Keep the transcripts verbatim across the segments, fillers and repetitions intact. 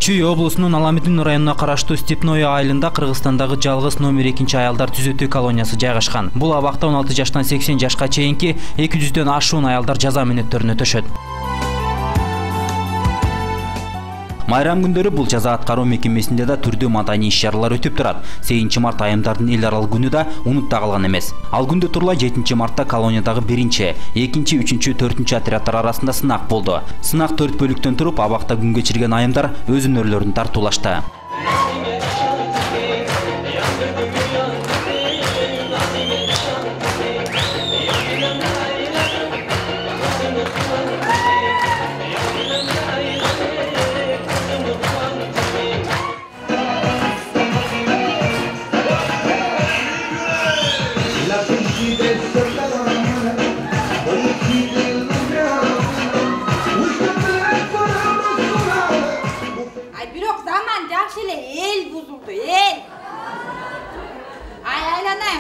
Чүй облусунун Аламедин районуна караштуу Степное айылында Кыргызстандагы жалгыз номер экинчи аялдар түзөтүү колониясы жайгашкан. Бул абакта он алты жаштан сексен жашка чейинки эки жүздөн ашуун аялдар жаза мүнөттөрүн өтөшөт. Майрам күндөрү бул жаза аткаруу мекемесинде да түрдүү маданий иш-чаралар өтүп турат. сегизинчи март айымдардын эл аралык күнү да унутта калган эмес. Ал күндө турла жетинчи мартта колониядагы биринчи, экинчи, үчүнчү, төртүнчү отрядтар арасында сынак болду. Сынак төрт бөлүктөн туруп, абакта күн кечирген айымдар өз өнөрлөрүн тартуулашты.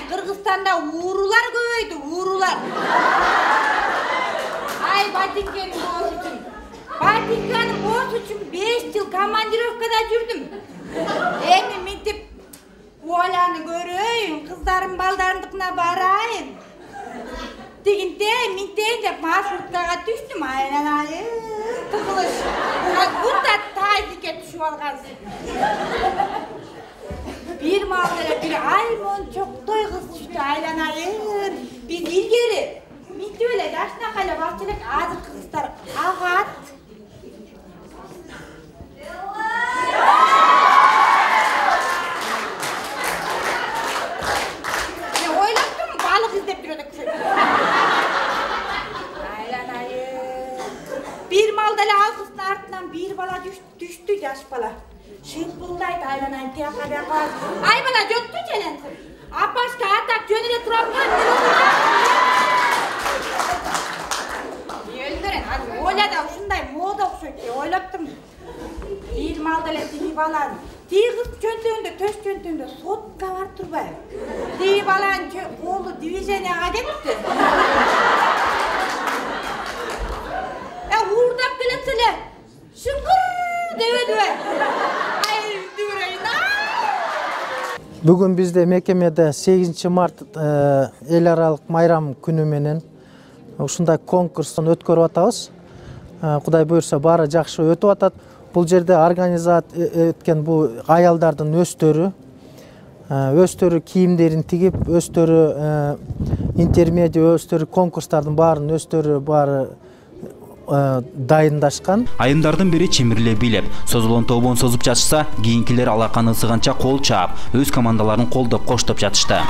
Кыргызстанда уурулар көбөйдү, уурулар. Ай, Батинкенин боосу үчүн. Батинканын боосу үчүн беш жыл командировкада жүрдүм. Эми мынтип Оляны көрөйүн, кыздарым балдарымдыкына барайын. Дегенде минтейин деп маршруткага түштүм, айланайы тыгылыш. Будда тайдикке түшүп алгансың. Bir mağdara bir aymon çok toyguz düştü aylanayın. Biz ilgeri. Minti öyle daşna kayla bahçelik azı kızlar ağat. Ne oylattın mı? Balık izlep duruyorduk. Aylanayın. Bir maldala ağzısının ardından bir bala düştü, düştü yaş bala. Şımpıldaydı aylanayın tiyaka tiyaka. Ay bana göttü çelensin. Apaşka atak jönüne turamıyorum. Öldüren, oyla da şunday moda okşuydu. Oylaptım. Bir maldala diyi balan. Diyi kız çöntüğünde, töş çöntüğünde sotka var turbay. Diyi balan kolu divizyonaya gitti. Ya uğurdap geletsile. Şıngır deve deve. Бүгүн бизде мекемеде сегизинчи март эл аралык майрам күнү менен ушундай конкурстун өткөрүп атабыз. Кудай буйрса баары жакшы өтүп атат. Бул жерде организат эткен бул аялдардын өздөрү, өздөрү кийимдерин тигип, өздөрү интермедиа, өздөрү конкурстардын баарын өздөрү баары дайындашкан. Айымдардын бири чимирлеп бийлеп, созулган тобон созуп жатышса, кийинкилер алаканы ысыганча кол чаап, өз командаларын колдоп коштоп жатышты.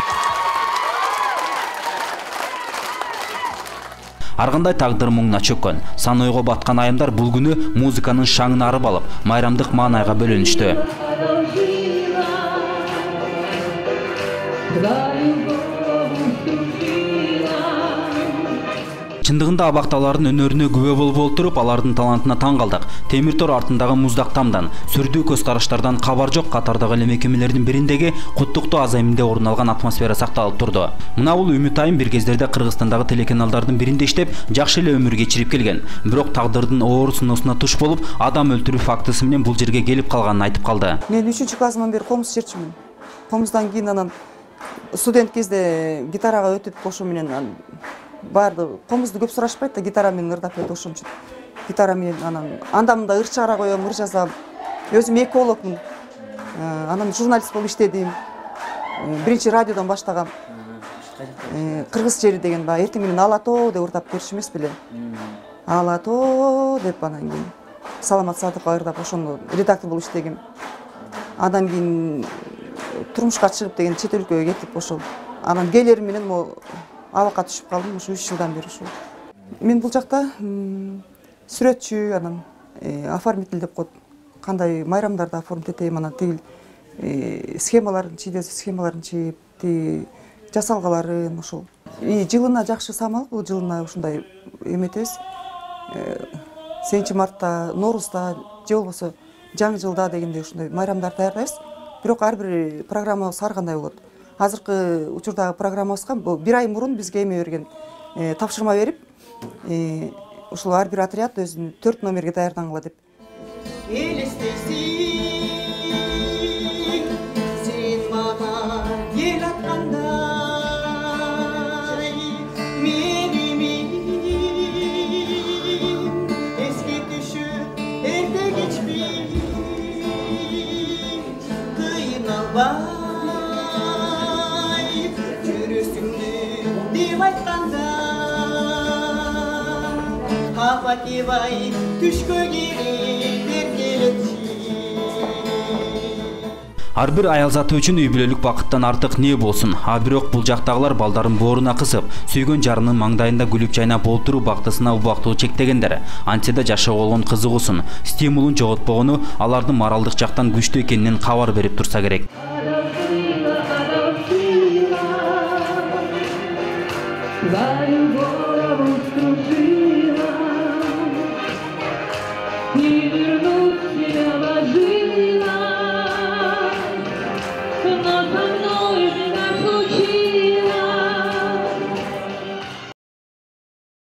Ар кандай тагдыр муңуна чөккөн, сан ойго баткан айымдар бул күнү музыканын шаңын арып алып, майрамдык маанайга бөлөнүштү. Чындыгында абакталардын өнөрүнө күбө болуп олтуруп, алардын талантына таң калдык. Темир тор артындагы муздак тамдан, сүрдүү көз караштардан кабар жок катардагы эле мекемелердин бириндеги куттуктуу азайымында орун алган атмосфера сакталып турду. Мына бул Үмүт айым бир кездерде Кыргызстандагы телеканалдардын биринде иштеп, жакшы эле өмүр кечирип келген. Бирок тагдырдын оор сыноосуна туш болуп, адам өлтүрүү фактысы менен бул жерге келип калганын айтып калды. Мен үчүнчү классыман бери комуз чертчүмүн. Комуздан кийин анан студент кезде гитарага өтүп ошо менен барды комузду көп сурашпайт да, гитара менен ырдап өтүп ошон үчүн. Гитара менен анан анда мында ыр чыгара коем, ыр жазам. Өзүм экологмун. Анан журналист болуп иштедим. Биринчи радиодон баштагам. Кыргыз жери деген баягы эртең менен алато деп ырдап көрчү эмес беле. Алато деп анан кийин Саламат Садыкова ырдап ошону редактор болуп иштегем. Андан кийин турмушка чыгып деген чет өлкөгө кетип ошол. Анан келерим менен могу абакка түшүп калдым, ушу үч жылдан бери ушул. Мен бул жакта сүрөтчү, анан оформитель деп коет. Кандай майрамдарды оформить этем, анан тигил схемаларын чийдесип, схемаларын чийип, тиги жасалгаларын ошол. И жылына жакшы самал, бул жылына ушундай эметебиз. сегизинчи мартта, Ноорузда, же болбосо жаңы жылда дегенде ушундай майрамдар даярдайбыз. Бирок ар бир программабыз ар кандай болот. Азыркы учурдагы программабызга бир ай мурун бизге эме берген, тапшырма берип, ушул ар бир отряд өзүнүн төрт номерге даярдангыла деп. элестейсиң сен мага эл аткандай менимин эске түшүп эрте кечпи кыйналбай жүрөсүңдү деп айтканда апа кебай түшкө кирип эркелетчи. Ар бир аял заты үчүн үй бүлөлүк бакыттан артык не болсун, а бирок бул жактагылар балдарын бооруна кысып, сүйгөн жарынын маңдайында күлүп жайнап олтуруу бактысына убактылуу чектегендер. Антсе да жашоого болгон кызыгуусун, стимулун жоготпогону алардын моралдык жактан күчтүү экенинен кабар берип турса керек. Не вернуть меня в жизнь.